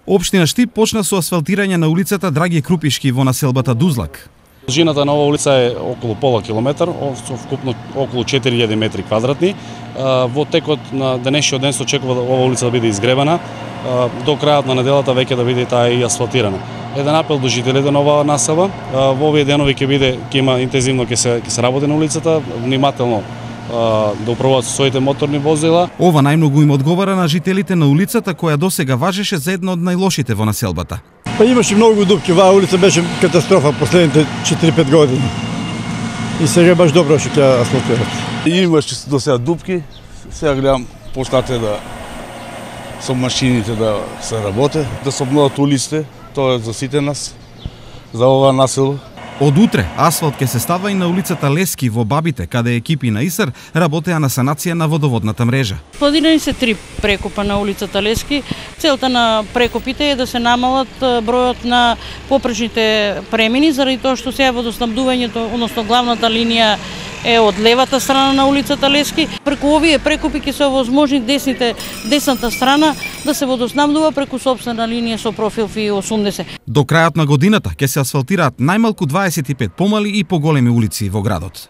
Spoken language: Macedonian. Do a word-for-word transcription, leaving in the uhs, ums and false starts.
Општина Штип почна со асфалтирање на улицата Драги Крупишки во населбата Дузлак. Длжината на оваа улица е околу пола километар, со вкупно околу четири илјади метри квадратни. Во текот на денешниот ден се очекува да оваа улица да биде изгребана, до крајот на неделата веќе да биде таа и асфалтирана. Еден апел до жителите на оваа населба, во овие денови ќе биде ќе има интензивно ќе се ќе се работи на улицата, внимателно да управуваат со своите моторни возила. Ова најмногу им одговара на жителите на улицата која досега важеше за една од најлошите во населбата. Па имаше многу дупки, оваа улица беше катастрофа последните четири-пет години. И сега баш добро што ќе асфалтират. Имаше до сега дупки, сега гледам почнате да со машините да се работи, да се обноват улиците, тоа е за сите нас, за оваа населба. Од утре асфалт ќе се става и на улицата Лески во Бабите, каде екипи на ИСАР работеа на санација на водоводната мрежа. Планирани се три прекопа на улицата Лески. Целта на прекопите е да се намалат бројот на попречните премини, заради тоа што сега водоснабдувањето, односно главната линија е од левата страна на улицата Лески. Преку овие прекопи ќе се овозможни десните, десната страна да се водоснабдува преку сопствена линија со профил Ф И осумдесет. До крајот на годината ќе се асфалтираат најмалку дваесет и пет помали и поголеми улици во градот.